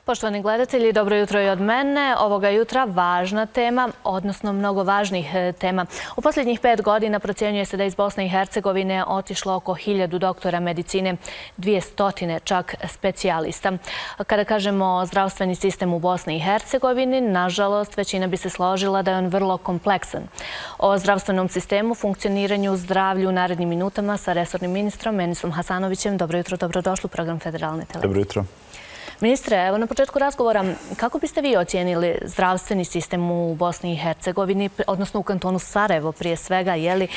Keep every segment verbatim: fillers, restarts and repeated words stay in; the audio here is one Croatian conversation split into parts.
Poštovani gledatelji, dobro jutro i od mene. Ovoga jutra važna tema, odnosno mnogo važnih tema. U posljednjih pet godina procjenjuje se da iz Bosne i Hercegovine otišlo oko hiljadu doktora medicine, dvije stotine čak specijalista. Kada kažemo zdravstveni sistem u Bosni i Hercegovini, nažalost, većina bi se složila da je on vrlo kompleksan. O zdravstvenom sistemu, funkcioniranju, zdravlju u narednim minutama sa resornim ministrom Enisom Hasanovićem. Dobro jutro, dobrodošli u program Federalne televizije. Dobro jutro. Ministre, evo na početku razgovora, kako biste vi ocijenili zdravstveni sistem u Bosni i Hercegovini, odnosno u kantonu Sarajevo prije svega, je li,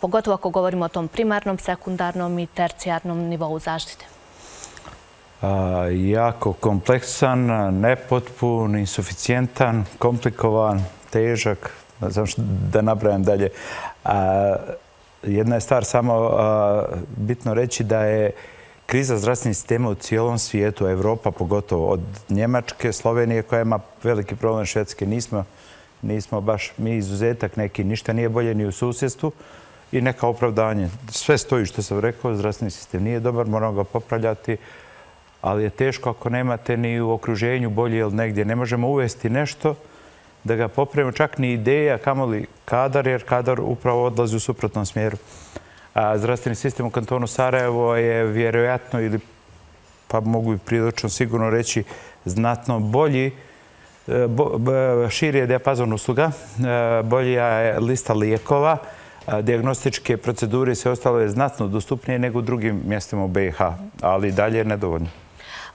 pogotovo ako govorimo o tom primarnom, sekundarnom i tercijarnom nivou zaštite? A, jako kompleksan, nepotpun, insuficijentan, komplikovan, težak, ne znam što da napravim dalje. A, jedna je stvar samo a, bitno reći da je kriza zdravstvenih sistema u cijelom svijetu, Evropa pogotovo, od Njemačke, Slovenije koja ima veliki problem, Švedske nismo, nismo baš mi izuzetak neki, ništa nije bolje ni u susjedstvu i neka opravdanje. Sve stoji što sam rekao, zdravstveni sistem nije dobar, moramo ga popravljati, ali je teško ako nemate ni u okruženju bolje ili negdje. Ne možemo uvesti nešto da ga popravimo, čak ni ideja, kamoli kadar, jer kadar upravo odlazi u suprotnom smjeru. A zdravstveni sistem u kantonu Sarajevo je vjerojatno ili pa mogu i prilično sigurno reći znatno bolji, širi je dijapazon usluga, bolja je lista lijekova, dijagnostičke procedure i sve ostalo je znatno dostupnije nego u drugim mjestima u B i H, ali dalje je nedovoljno.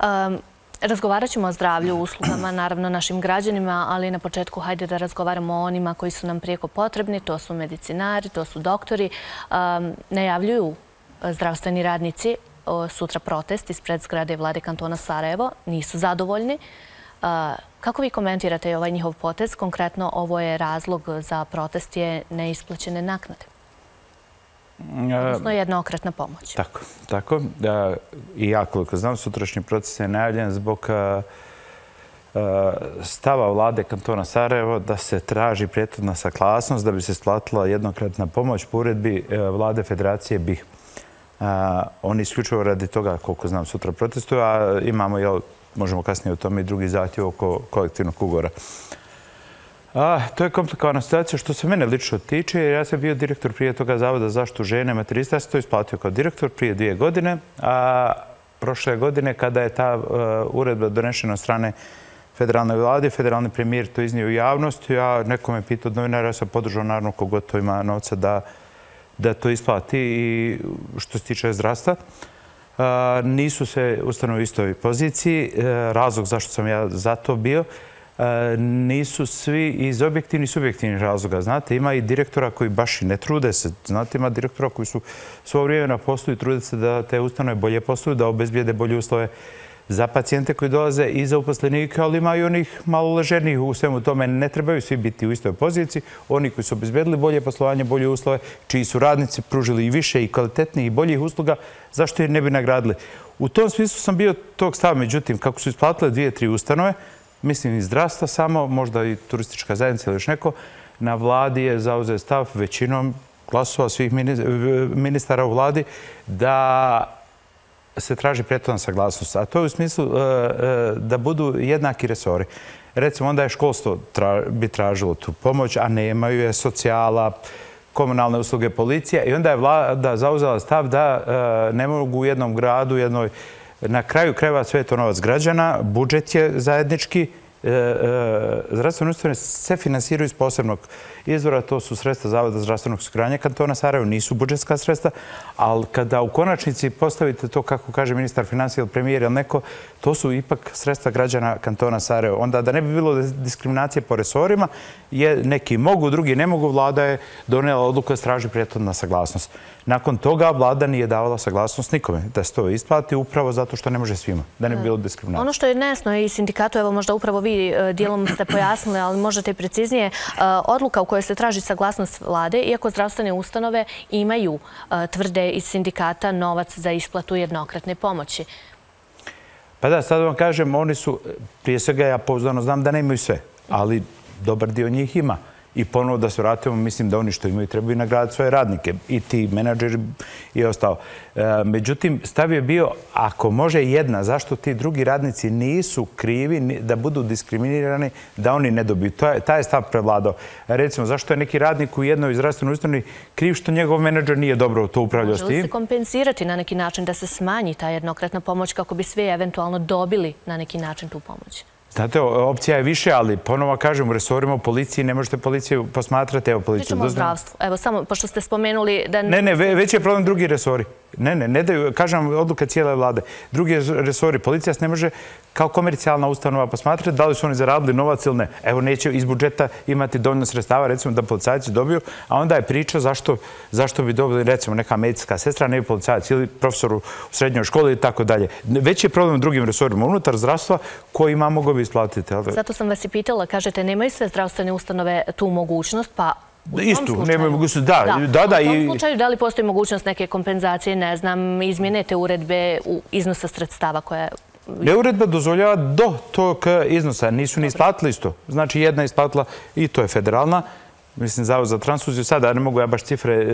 Um... Razgovarat ćemo o zdravlju, uslugama, naravno našim građanima, ali na početku hajde da razgovaramo o onima koji su nam prijeko potrebni. To su medicinari, to su doktori. Najavljuju zdravstveni radnici sutra protest ispred zgrade vlade kantona Sarajevo. Nisu zadovoljni. Kako vi komentirate ovaj njihov potez? Konkretno, ovo je razlog za protest je neisplaćene naknade. Odnosno jednokratna pomoć. Tako, tako. I ja koliko znam, sutrašnji proces je najavljen zbog stava vlade kantona Sarajevo da se traži prethodna saglasnost da bi se isplatila jednokratna pomoć po uredbi vlade Federacije B i H. Oni isključivo radi toga, koliko znam, sutra protestuju, a imamo, jel, možemo kasnije o tome i drugi zahtjev oko kolektivnog ugovora. A, to je komplikovana situacija što se mene lično tiče, jer ja sam bio direktor prije toga Zavoda za zaštitu žene i materinstva. Ja sam to isplatio kao direktor prije dvije godine, a prošle godine kada je ta uh, uredba donešena od strane federalne vlade, federalni premijer to iznio u javnost, ja neko me pitao od novinara, ja sam podržao naravno kogod to ima novca da, da to isplati i što se tiče zdravstva. Uh, nisu se ustanove u istoj poziciji, uh, razlog zašto sam ja za to bio, nisu svi iz objektivnih i subjektivnih razloga. Znate, ima i direktora koji baš i ne trude se. Znate, ima direktora koji su svo vrijeme na poslu i trude se da te ustanove bolje posluju, da obezbijede bolje uslove za pacijente koji dolaze i za uposlenike, ali ima i onih malo ležernijih u svemu tome. Ne trebaju svi biti u istoj poziciji. Oni koji su obezbjedili bolje poslovanje, bolje uslove, čiji su radnici pružili i više i kvalitetnijih i boljih usluga, zašto je ne bi nagradili? U tom smislu sam bio tog stava. Međutim, kako su isplatile dvije, tri ustanove, mislim i zdravstva samo, možda i turistička zajednica ili još neko, na vladi je zauzeo stav većinom glasova svih ministara u vladi da se traži prethodna saglasnost. A to je u smislu da budu jednaki resori. Recimo, onda je školstvo bi tražilo tu pomoć, a nemaju je socijala, komunalne usluge, policija. I onda je vlada zauzela stav da ne mogu u jednom gradu, jednoj na kraju krajeva sve je to novac građana, budžet je zajednički, zdravstvene ustanove se finansiraju iz posebnog izvora, to su sredstva Zavoda zdravstvenog osiguranja kantona Sarajevo, nisu budžetska sredstva, ali kada u konačnici postavite to, kako kaže ministar financija ili premijer ili neko, to su ipak sredstva građana kantona Sarajevo. Onda da ne bi bilo diskriminacije po resorima, neki mogu, drugi ne mogu, vlada je donijela odluku da traži prethodna saglasnost. Nakon toga vlada nije davala saglasnost nikome da se to isplati upravo zato što ne može svima, da ne bi bilo diskriminacije. Ono što je nejasno i sindikatu, evo možda upravo vi dijelom ste pojasnili, ali možete i preciznije, odluka u kojoj se traži saglasnost vlade, iako zdravstvene ustanove imaju, tvrde iz sindikata, novac za isplatu jednokratne pomoći. Pa da, sad vam kažem, oni su, prije svega ja pouzdano znam da nemaju sve, ali dobar dio njih ima. i ponovo da se vratimo, mislim da oni što imaju trebaju nagraditi svoje radnike, i ti menadžeri i ostalo. Međutim, stav je bio, ako može jedna, zašto ti drugi radnici nisu krivi da budu diskriminirani, da oni ne dobiju. Taj je stav prevladao. Recimo, zašto je neki radnik u jednoj zdravstvenoj ustanovi kriv što njegov menadžer nije dobro to upravljao s tim? Može li se kompenzirati na neki način da se smanji ta jednokratna pomoć kako bi svi eventualno dobili na neki način tu pomoć? Znate, opcija je više, ali ponovo kažem, u resorima u policiji ne možete policiju posmatrati. Evo, policiju. Pričamo o zdravstvu. Evo, samo, pošto ste spomenuli da... Ne, ne, već je problem drugi resori. Ne, ne, ne daju, kažem, odluka cijele vlade. Drugi resori, policija se ne može kao komercijalna ustanova posmatrati da li su oni zaradili novac ili ne. Evo, neće iz budžeta imati dovoljno sredstava, recimo, da policajci dobiju, a onda je priča zašto, zašto bi dobili, recimo, neka medicinska sestra, ne policajac ili profesor u srednjoj školi i tako dalje. Već je problem u drugim resorima unutar zdravstva koji ima mogu bi isplatiti. Zato sam vas i pitala, kažete, nemaju sve zdravstvene ustanove tu mogućnost, pa Istu, nemaju mogućnost, da. Da, da, u tom slučaju, da li postoji mogućnost neke kompenzacije, ne znam, izmjene te uredbe u iznosa sredstava koja... Ne, uredba dozvoljava do tog iznosa. Nisu ni isplatili isto. Znači, jedna je isplatila i to je federalna. Mislim, Zavod za transfuziju. Sada ne mogu ja baš cifre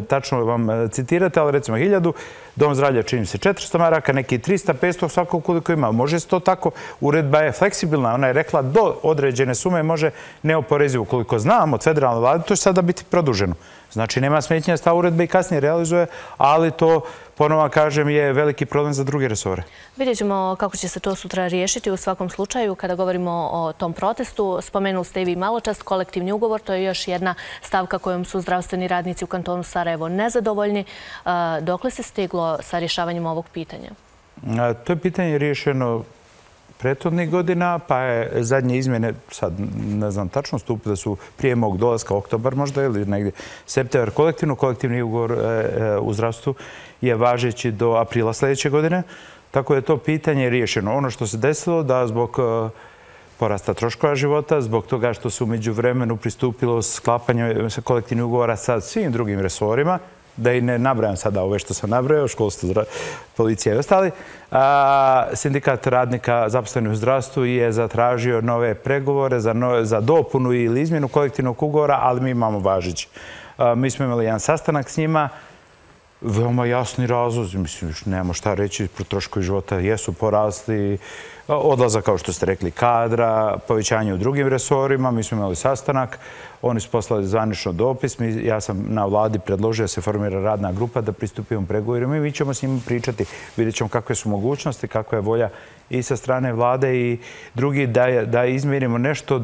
tačno vam citirati, ali recimo hiljadu. Dom zdravlja čini se četiristo maraka, neki tristo, petsto, svako koliko ima. Može se to tako. Uredba je fleksibilna. Ona je rekla do određene sume može neoporezivo. Koliko znam od federalne vlade, to će sada biti produženo. Znači, nema smetnja da se ta uredba i kasnije realizuje, ali to, ponovo kažem, je veliki problem za druge resore. Vidjet ćemo kako će se to sutra riješiti u svakom slučaju. Kada govorimo o tom protestu, spomenuli ste i vi malo čas kolektivni ugovor. To je još jedna stavka kojom su zdravstveni radnici u kantonu Sarajevo nezadovoljni. Dokle se stiglo sa rješavanjem ovog pitanja? To je pitanje riješeno prethodnih godina, pa je zadnje izmjene, sad ne znam tačno, stupile su prije mog dolaska, oktobar možda ili negdje septembar kolektivno. Kolektivni ugovor u zdravstvu je važeći do aprila sljedeće godine. Tako je to pitanje riješeno. Ono što se desilo da zbog porasta troškova života, zbog toga što se u međuvremenu pristupilo sklapanju kolektivnih ugovora sa svim drugim resorima, da i ne nabrajam sada ove što sam nabrajao, školstvo, policija i ostali. Sindikat radnika zaposlenih u zdravstvu je zatražio nove pregovore za dopunu ili izmjenu kolektivnog ugovora, ali mi imamo važeći. Mi smo imali jedan sastanak s njima, veoma jasni razlozi, mislim, još nemamo šta reći, troškovi života jesu porasli, odlazak, kao što ste rekli, kadra, povećanje u drugim resorima. Mi smo imali sastanak, oni su poslali zvanično dopis. Ja sam na vladi predložio da se formira radna grupa da pristupimo pregovorima i mi ćemo s njima pričati. Vidjet ćemo kakve su mogućnosti, kakva je volja i sa strane vlade i drugi da izmjerimo nešto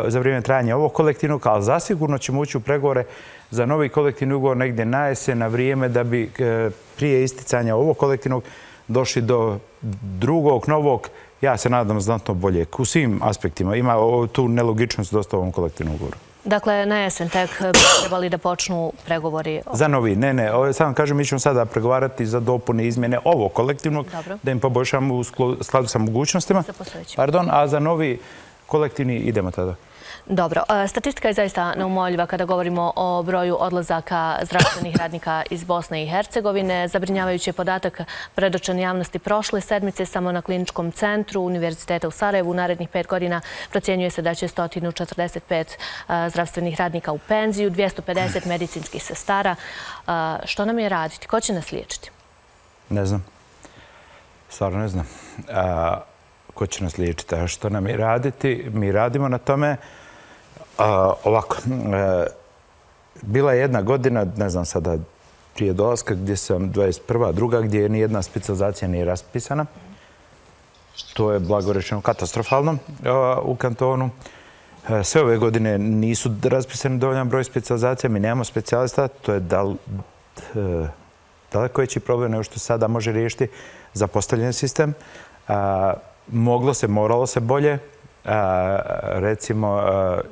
za vrijeme trajanja ovog kolektivnog, ali zasigurno ćemo ući u pregovore za novi kolektivni ugovor negdje na jesen, na vrijeme da bi prije isticanja ovog kolektivnog došli do drugog, novog, ja se nadam znatno bolje, u svim aspektima. Ima tu nelogičnost dosta u ovom kolektivnom ugovoru. Dakle, na jesen tek bi trebali da počnu pregovori? Za novi, ne, ne. Samo kažem, mi ćemo sada pregovarati za dopune izmjene ovog kolektivnog, da im poboljšamo u skladu sa mogućnostima. Pardon, a za novi kolektivni idemo tada. Dobro. Statistika je zaista neumoljiva kada govorimo o broju odlazaka zdravstvenih radnika iz Bosne i Hercegovine. Zabrinjavajući je podatak predočen javnosti prošle sedmice samo na Kliničkom centru Univerziteta u Sarajevu. U narednih pet godina procjenjuje se da će sto četrdeset pet zdravstvenih radnika u penziju, dvjesto pedeset medicinskih sestara. Što nam je raditi? Ko će nas liječiti? Ne znam. Stvarno ne znam. Ko će nas liječiti? A što nam je raditi? Mi radimo na tome. Ovako, bila je jedna godina, ne znam sada, prije dolaska, gdje sam dvadeset prva, druga, gdje nijedna specijalizacija nije raspisana. To je, blago rečeno, katastrofalno u kantonu. Sve ove godine nisu raspisani dovoljan broj specijalizacija, mi nemamo specijalista, to je daleko veći problem nego što sada može riješiti zapostavljen sistem. Moglo se, moralo se bolje. Recimo,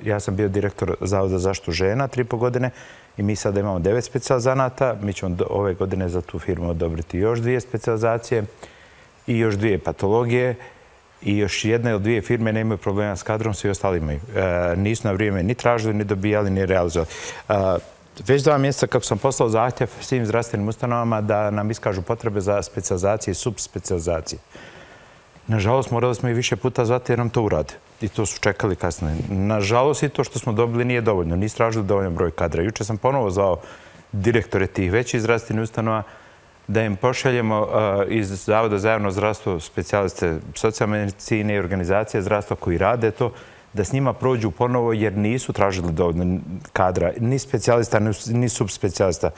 ja sam bio direktor Zavoda za zaštitu žena tri i po godine i mi sada imamo devet specijalizanata. Mi ćemo ove godine za tu firmu odobriti još dvije specijalizacije i još dvije patologije i još jedna ili dvije firme nemaju problema s kadrom, svi ostali imaju. Nisu na vrijeme ni tražili, ni dobijali, ni realizovali. Već dva mjeseca kako sam poslao zahtjev svim zdravstvenim ustanovama da nam iskažu potrebe za specijalizacije i subspecijalizacije. Nažalost, morali smo i više puta zvati jer nam to urade. i to su čekali kasnije. Nažalost, i to što smo dobili nije dovoljno. Nisu tražili dovoljno broj kadra. Juče sam ponovo zvao direktore tih većih zdravstvenih ustanova da im pošaljemo iz Zavoda za javno zdravstvo specijaliste socijalne medicine i organizacije zdravstva koji rade to, da s njima prođu ponovo jer nisu tražili dovoljno kadra. Ni specijalista, ni subspecijalista,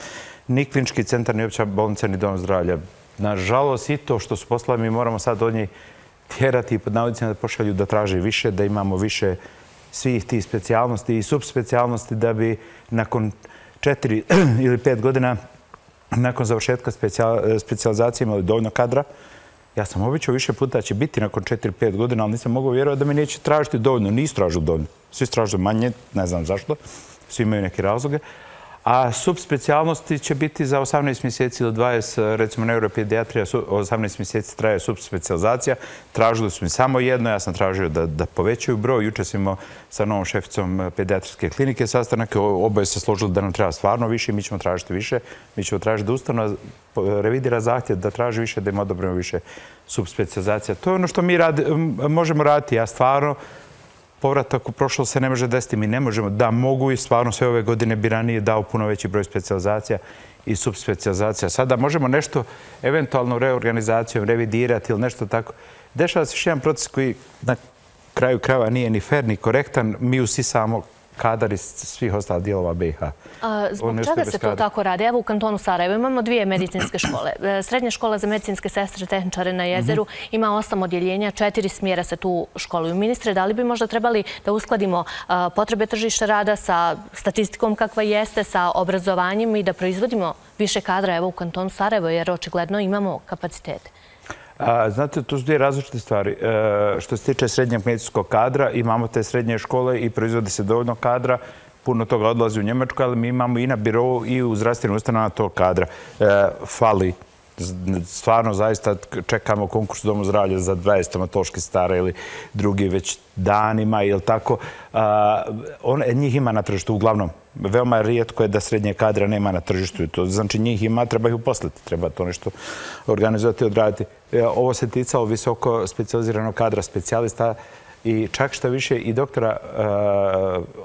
ni klinički centar, ni opća bolnica, ni dom zdravlja. Nažalost, i to što su poslali, mi moramo sad od njih tjerati i pod navodnicima da pošalju da traže više, da imamo više svih tih specijalnosti i subspecijalnosti da bi nakon četiri ili pet godina nakon završetka specijalizacije imali dovoljno kadra. Ja sam običao više puta će biti nakon četiri pet godina, ali nisam mogao vjerovati da mi neće tražiti dovoljno. Nisu tražili dovoljno. Svi tražili manje, ne znam zašto. Svi imaju neke razloge. A subspecijalnosti će biti za osamnaest mjeseci ili dvadeset, recimo neuropedijatrija, osamnaest mjeseci traje subspecializacija. Tražili su mi samo jedno, ja sam tražio da, da povećaju broj. Juče smo imali sa novom šeficom pedijatrijske klinike sastanak. Oboje se složili da nam treba stvarno više, mi ćemo tražiti više. Mi ćemo tražiti da ustanova revidira zahtjev da traži više, da im odobrimo više subspecializacija. To je ono što mi radi, možemo raditi. Ja stvarno povratak u prošlost se ne može desiti. Mi ne možemo. Da, mogu i stvarno sve ove godine bi ranije dao puno veći broj specijalizacija i subspecializacija. Sada možemo nešto eventualno reorganizacijom revidirati ili nešto tako. Dešava se još jedan proces koji na kraju krajeva nije ni fer, ni korektan. Mi usisamo kadar iz svih ostalih dijelova B i H. Zbog čega se to tako radi? Evo u kantonu Sarajevo imamo dvije medicinske škole. Srednja škola za medicinske sestre tehničare na Jezeru ima osam odjeljenja, četiri smjera se tu školuju. Ministre, da li bi možda trebali da uskladimo potrebe tržišta rada sa statistikom kakva jeste, sa obrazovanjem i da proizvodimo više kadra evo u kantonu Sarajevo, jer očigledno imamo kapacitete? Znate, to su dvije različite stvari. Što se tiče srednjeg medicinskog kadra, imamo te srednje škole i proizvode se dovoljno kadra. Puno toga odlazi u Njemačku, ali mi imamo i na birovu i u zdravstvenim ustanovama tog kadra. Fali. Stvarno, zaista čekamo konkurs u Domu zdravlja za dvadeset stomatoloških sestara ili drugi već danima ili tako. Njih ima na tržištu uglavnom. Veoma rijetko je da srednje kadra nema na tržištu. Znači njih ima, treba ih uposliti. Treba to nešto organizovati i odraditi. Ovo se ticalo visoko specijaliziranog kadra specijalista i čak što više i doktora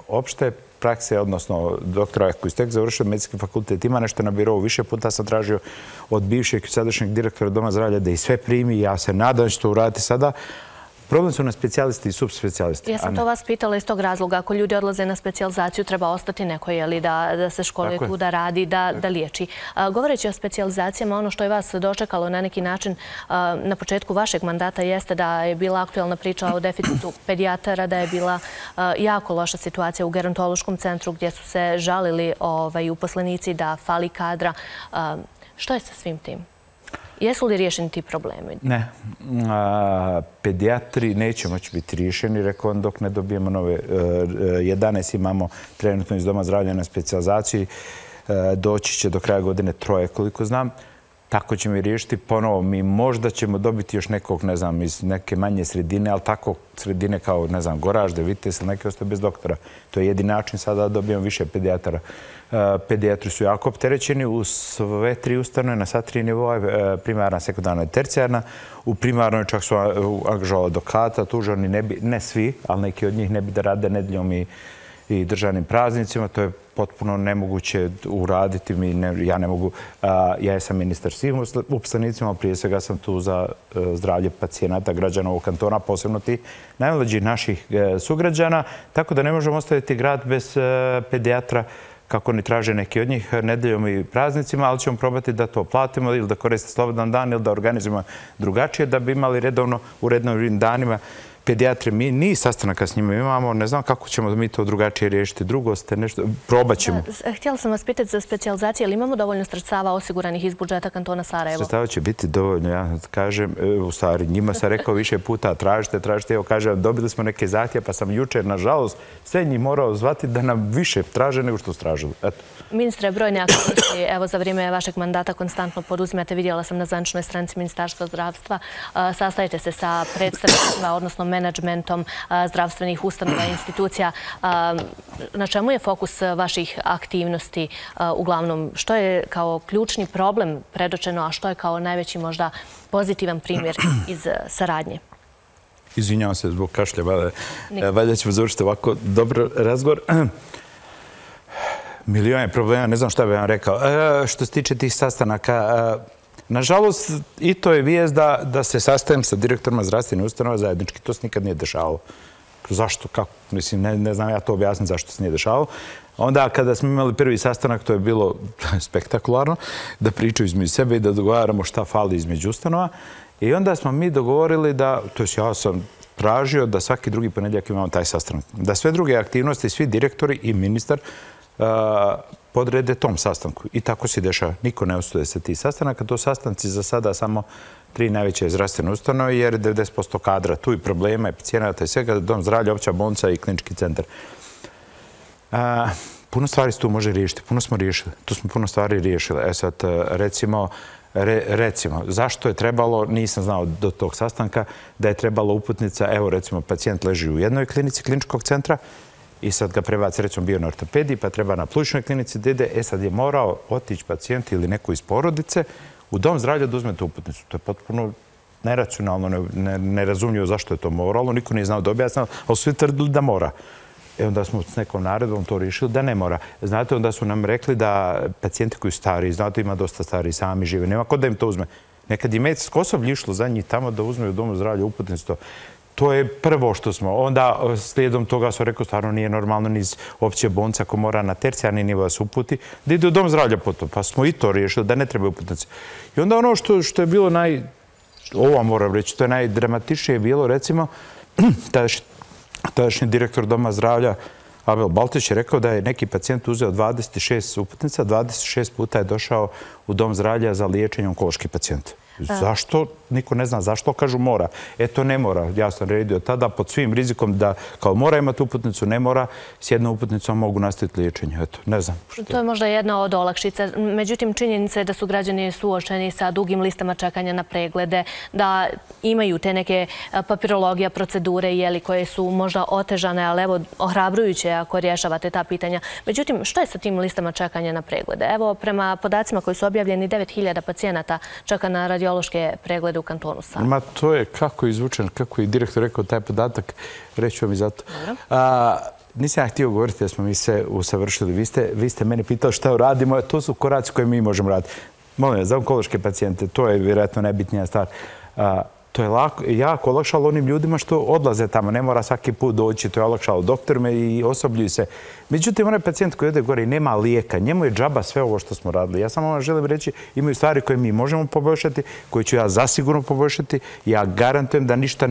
opšte prakse, odnosno doktora koji ste tek završili medicinski fakultet, ima nešto na birovu. Više puta sam tražio od bivšeg i sadašnjeg direktora Doma zdravlja da ih sve primi. Ja se nadam da će to uraditi sada. Problem su na specijalisti i subspecijalisti. Ja sam to vas pitala iz tog razloga. Ako ljudi odlaze na specijalizaciju, treba ostati neko, jeli, da se školuje tu, da radi, da liječi. Govoreći o specijalizacijama, ono što je vas dočekalo na neki način na početku vašeg mandata jeste da je bila aktualna priča o deficitu pedijatara, da je bila jako loša situacija u gerontološkom centru gdje su se žalili uposlenici da fali kadra. Što je sa svim tim? Jesu li riješeni ti problemi? Ne. Pedijatri neće moći biti riješeni, rekao on, dok ne dobijemo nove. jedanaest imamo trenutno iz Doma zdravlja na specijalizaciji. Doći će do kraja godine troje, koliko znam. Tako ćemo i riješiti ponovo. Mi možda ćemo dobiti još nekog, ne znam, iz neke manje sredine, ali tako sredine kao, ne znam, Goražde, Vites ili neke ostaje bez doktora. To je jedini način sada da dobijemo više pedijatara. Pedijatri su jako opterećeni u sve tri ustanove na sva tri nivoa, primarna, sekundarna i tercijarna. U primarnoj čak su angažovali advokata, tužani, ne, bi, ne svi, ali neki od njih ne bi da rade nedjeljom i, i državnim praznicima. To je potpuno nemoguće uraditi. Mi ne, ja ne mogu, a, ja sam ministar svih uposlenicima, prije svega sam tu za a, zdravlje pacijenata, građana ovog kantona, posebno ti najmlađih naših a, sugrađana, tako da ne možemo ostaviti grad bez a, pedijatra, kako ni traže neki od njih nedeljom i praznicima, ali ćemo probati da to platimo ili da koriste slobodan dan ili da organizujemo drugačije, da bi imali redovno u redovnim danima pedijatre. Mi ni sastanaka s njima imamo, ne znam kako ćemo mi to drugačije riješiti. Drugo ste nešto, probat ćemo. Htjela sam vas pitati za specijalizacije, ali imamo dovoljno sredstava osiguranih iz budžeta kantona Sarajevo? Sredstava će biti dovoljno, ja kažem, u stvari, njima sam rekao više puta, tražite, tražite, evo kažem, dobili smo neke zahtjeve, pa sam jučer, nažalost, sve njih morao zvati da nam više traže nego što su tražili. Eto. Ministre, brojne aktivnosti, evo za vrijeme vašeg mandata konstantno poduzimate, vidjela sam na zvaničnoj stranici Ministarstva zdravstva, sastajete se sa predstavnicima, odnosno menadžmentom zdravstvenih ustanova i institucija. Na čemu je fokus vaših aktivnosti uglavnom? Što je kao ključni problem predočeno, a što je kao najveći možda pozitivan primjer iz saradnje? Izvinjavam se zbog kašlja, valjda ćemo završiti ovako dobro razgovor. Milione problema, ne znam šta bih vam rekao. Što se tiče tih sastanaka, nažalost, i to je vijest da se sastajem sa direktorima zdravstvenih ustanova zajednički. To se nikad nije dešavalo. Zašto? Kako? Mislim, ne znam ja to objasniti zašto se nije dešavalo. Onda kada smo imali prvi sastanak, to je bilo spektakularno, da pričaju između sebe i da dogovaramo šta fali između ustanova. I onda smo mi dogovorili da, to jest ja sam tražio da svaki drugi ponedjeljak imamo taj sastanak. Da sve druge aktivnosti, svi direktori i ministar podrede tom sastanku. I tako se dešava. Niko ne ostuje sa tih sastanaka. To sastanci za sada samo tri najveće zdravstvene ustanove, jer devedeset posto kadra tu i problema i pacijenata i svega, dom zdravlja, opća bolnica i klinički centar. Puno stvari se tu može riješiti. Puno smo riješili. Tu smo puno stvari riješili. E sad, recimo, recimo, zašto je trebalo, nisam znao do tog sastanka, da je trebalo uputnica, evo recimo, pacijent leži u jednoj klinici kliničkog centra i sad ga prebaci, recimo, bio na ortopediji, pa treba na plućnoj klinici da ide, e sad je morao otići pacijent ili neko iz porodice u dom zdravlja da uzme tu uputnicu. To je potpuno neracionalno, nerazumljivo zašto je to moralo, niko nije znao da objasnilo, ali su svi tvrdili da mora. E onda smo s nekom naredbom to riješili da ne mora. Znate, onda su nam rekli da pacijenti koji su stari, znate, ima dosta stari, sami žive, nema ko da im to uzme. Nekad je medicinsko osoblje išlo za njih tamo da uzme u domu zdravlja uputnicu. To je prvo što smo. Onda slijedom toga su rekao, stvarno nije normalno ni iz opće bolnice ako mora na tercijarni nivo da se uputi, da ide u dom zdravlja potom. Pa smo i to riješili, da ne treba uputnice. I onda ono što je bilo naj... Ovo moram reći, to je najdramatičnije bilo, recimo, tadašnji direktor doma zdravlja Abel Baltić je rekao da je neki pacijent uzeo dvadeset šest uputnica, dvadeset šest puta je došao u dom zdravlja za liječenje onkološki pacijent. Zašto? Niko ne zna zašto, kažu mora. E to ne mora. Ja sam redio tada pod svim rizikom da kao mora imati uputnicu, ne mora, s jednom uputnicom mogu nastaviti liječenje. Eto, ne znam. To je možda jedna od olakšica. Međutim, činjenica je da su građani suočeni sa dugim listama čekanja na preglede, da imaju te neke papirologija, procedure koje su možda otežane, ali evo, ohrabrujuće ako rješavate ta pitanja. Međutim, što je sa tim listama čekanja na preglede? Evo, prema podacima koji su objavljeni, devet hiljada pacijenata čeka na radiološke preglede u kantonu Sava. Ma to je kako je izvučen, kako je direktor rekao taj podatak, reću vam i zato. Nisam ja htio govoriti da smo mi sve usavršili. Vi ste meni pitali šta radimo, to su koraci koje mi možemo raditi. Molim vas, za onkološke pacijente, to je vjerojatno najbitnija stvar. To je jako olakšalo onim ljudima što odlaze tamo. Ne mora svaki put doći, to je olakšalo doktorima i osoblju se. Međutim, onaj pacijent koji ode gore i nema lijeka, njemu je džaba sve ovo što smo radili. Ja samo vam želim reći, imaju stvari koje mi možemo poboljšati, koje ću ja zasigurno poboljšati. Ja garantujem da ništa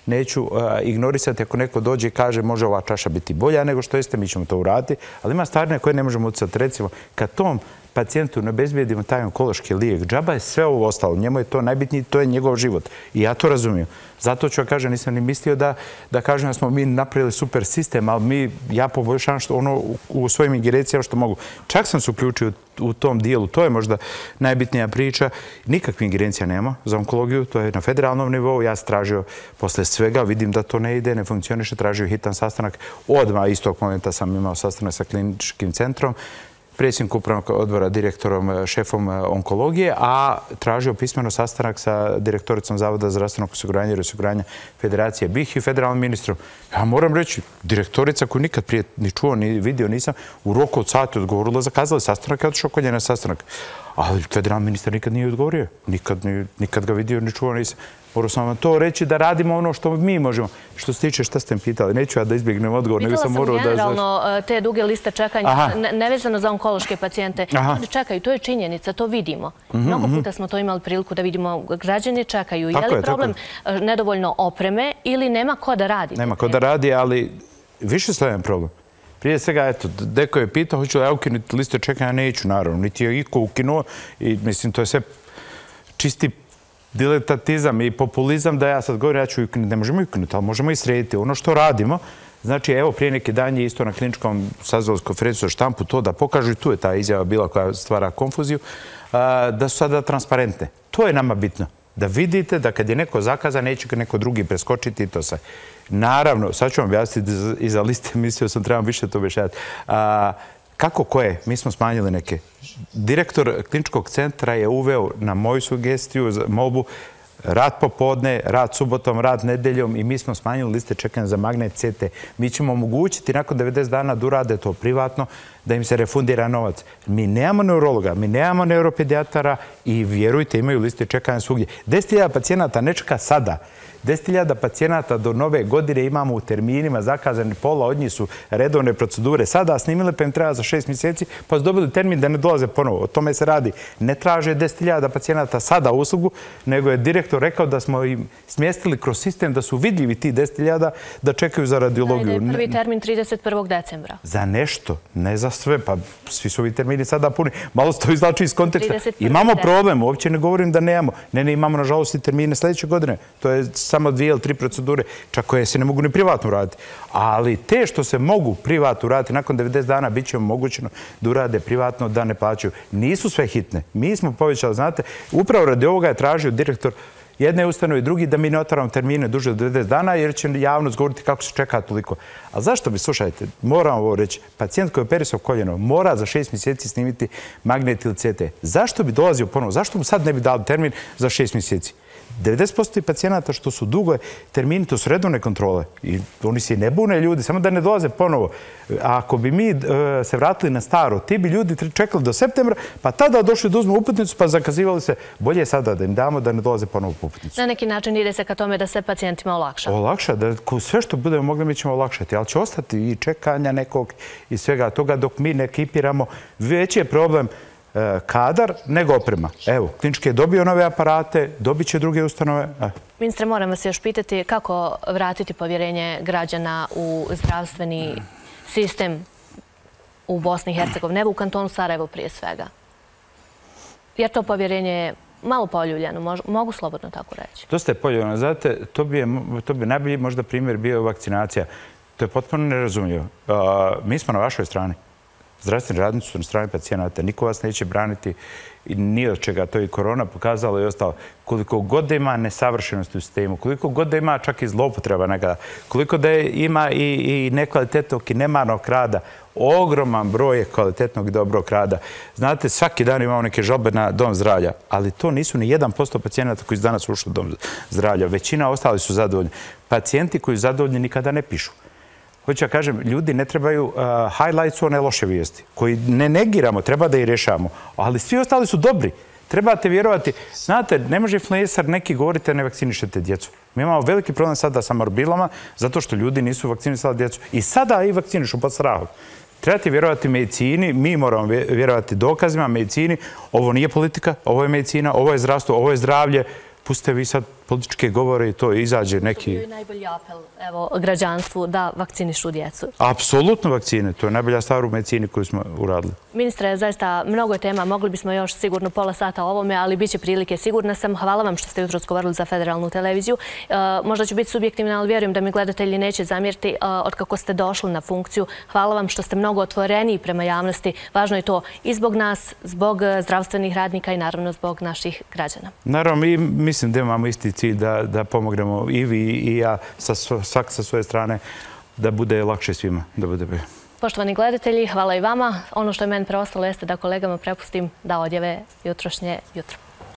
neću ignorisati ako neko dođe i kaže može ova čaša biti bolja nego što jeste, mi ćemo to uraditi. Ali ima stvari na koje ne možemo utjecati. Recimo, kad tom pacijentu ne obezbijedimo taj onkološki lijek, džaba je sve ovo ostalo. Njemu je to najbitnije, to je njegov život. I ja to razumijem. Zato ću ja kažem, nisam ni mislio da kažem da smo mi napravili super sistem, ali mi, ja poboljšavam ono u svojim ingerencijama što mogu. Čak sam se uključio u tom dijelu, to je možda najbitnija priča. Nikakve ingerencija nema za onkologiju, to je na federalnom nivou. Ja sam tražio posle svega, vidim da to ne ide, ne funkcioniše, tražio hitan sastanak. Odmah istog momenta sam imao sastanak sa kliničkim centrom, predsjednik upravnog odbora, direktorom, šefom onkologije, a tražio pismeno sastanak sa direktoricom Zavoda za zdravstvenog osiguranja i osiguranja Federacije B I H i federalnim ministrom. Ja moram reći, direktorica koju nikad prije ni čuo, ni vidio nisam, u roku od sati odgovorila, zakazali sastanak, ja otišao kod nje na sastanak. Ali federalni ministar nikad nije odgovorio. Nikad ga vidio, ni čuo nisam. Morao sam vam to reći da radimo ono što mi možemo. Što se tiče šta ste mi pitali, neću ja da izbjegnem odgovor, nego sam morao da... Pitala sam generalno te duge liste čekanja, nevezano za onkološke pacijente. Ljudi čekaju, to je činjenica, to vidimo. Mnogo puta smo to imali priliku da vidimo. Građani čekaju. Je li problem nedovoljno opreme ili nema ko da radi? Nema ko da radi, ali više slojan problem. Prije svega, eto, deko je pitao, hoću li ja ukinuti liste čekanja, neću, naravno. Niti je iko ukinuo i mislim, to je sve čisti diletatizam i populizam da ja sad govorim, ja ću ukinuti. Ne možemo ukinuti, ali možemo i srediti. Ono što radimo, znači, evo, prije neki dan je isto na kliničkom sazvali konferenciju za štampu to da pokažu, i tu je ta izjava bila koja stvara konfuziju, da su sada transparentne. To je nama bitno. Da vidite da kad je neko zakazan, neće ga neko drugi preskočiti i to sve. Naravno, sad ću vam objasniti iza liste, mislio sam trebam više to objašnjavati. Kako koje? Mi smo smanjili neke. Direktor kliničkog centra je uveo na moju sugestiju, molbu, rad popodne, rad subotom, rad nedeljom i mi smo smanjili liste čekanja za magnet C T. Mi ćemo omogućiti nakon devedeset dana da urade to privatno, da im se refundira novac. Mi nemamo neurologa, mi nemamo neuropedijatara i vjerujte, imaju liste čekanja svugdje. deset hiljada pacijenata ne čeka sada. deset hiljada pacijenata do nove godine imamo u terminima zakazani, pola od njih su redovne procedure. Sada snimile pa im treba za šest mjeseci, pa su dobili termin da ne dolaze ponovo. O tome se radi. Ne traže deset hiljada pacijenata sada uslugu, nego je direktor rekao da smo im smjestili kroz sistem da su vidljivi ti deset hiljada da čekaju za radiologiju. Da je prvi termin trideset prvog decembra. Za nešto, ne za sve. Pa svi su ovi termini sada puni. Malo se to izlači iz konteksta. Imamo problem, uopće ne govorim da nemamo. Ne, ne, imamo nažalost i termine sljedeće godine. To je samo dvije ili tri procedure, čak koje se ne mogu ni privatno uraditi. Ali te što se mogu privatno uraditi, nakon devedeset dana bit će omogućeno da urade privatno, da ne plaćaju. Nisu sve hitne. Mi smo povećali, znate, upravo radi ovoga je tražio direktor jedne ustanove i drugi da mi ne otvaramo termine duže od devedeset dana jer će javnost govoriti kako se čeka toliko. A zašto bi, slušajte, moram ovo reći, pacijent koji je operisao koljeno mora za šest mjeseci snimiti magnet ili C T. Zašto bi dolazio ponovo? Zašto mu sad ne bi dali termin za šest mjeseci? devedeset posto pacijenata što su dugo termini, to su redovne kontrole. I oni se ne bune ljudi, samo da ne dolaze ponovo. Ako bi mi se vratili na staro, ti bi ljudi čekali do septembra, pa tada došli da uzmu uputnicu, pa zakazivali se. Bolje je sada da im damo da ne dolaze ponovo po uputnicu. Na neki način ide se ka tome da se pacijentima olakša. Olakša, da sve što budemo mogli mi ćemo olakšati, ali će ostati i čekanja nekog i svega toga dok mi ne ekipiramo. Veći je problem kadar nego oprema. Evo, klinički je dobio nove aparate, dobit će druge ustanove. Ministre, moram vas još pitati kako vratiti povjerenje građana u zdravstveni sistem u Bosni i Hercegovini, ne u kantonu Sarajevo prije svega. Jer to povjerenje je malo poljuljano, mogu slobodno tako reći. Dosta je poljuljano. Znate, to bi najbolji možda primjer bio vakcinacija. To je potpuno nerazumljivo. Mi smo na vašoj strani. Zdravstveni radnici su na strani pacijenata. Niko vas neće braniti ni od čega. To je i korona pokazala i ostalo. Koliko god da ima nesavršenosti u sistemu, koliko god da ima čak i zloupotreba nekada, koliko da ima i nekvalitetnog i nemarnog rada, ogroman broj je kvalitetnog i dobrog rada. Znate, svaki dan imamo neke žalbe na dom zdravlja, ali to nisu ni jedan posto pacijenata koji su danas ušli u dom zdravlja. Većina ostali su zadovoljni. Pacijenti koji su zadovoljni nikada ne pišu. Hoću ja kažem, ljudi ne trebaju highlights one loše vijesti, koji ne negiramo, treba da ih rješavamo, ali svi ostali su dobri. Trebate vjerovati, znate, ne može influencer neki govoriti da ne vakcinišete djecu. Mi imamo veliki problem sada sa morbilama, zato što ljudi nisu vakcinisali djecu. I sada i vakcinišu pod strahom. Trebate vjerovati medicini, mi moramo vjerovati dokazima, medicini. Ovo nije politika, ovo je medicina, ovo je zdravstvo, ovo je zdravlje. Pustite vi sad političke govore i to izađe neki... To je najbolji apel građanstvu da vakcinišu djecu. Apsolutno vakcine. To je najbolja stvar u medicini koju smo uradili. Ministre, zaista mnogo je tema. Mogli bismo još sigurno pola sata o ovome, ali bit će prilike. Sigurna sam. Hvala vam što ste jutros govorili za Federalnu televiziju. Možda ću biti subjektivna, ali vjerujem da mi gledatelji neće zamjeriti od kako ste došli na funkciju. Hvala vam što ste mnogo otvoreniji prema javnosti. Važno je to i zbog nas, zbog zdravstvenih radnika i naravno zbog naših građana. Naravno, mi mislim da imamo isti cilj da pomognemo i vi i ja, svak sa svoje strane, da bude lakše svima. Poštovani gledatelji, hvala i vama. Ono što je meni preostalo jeste da kolegama prepustim da odjave jutrošnje jutro.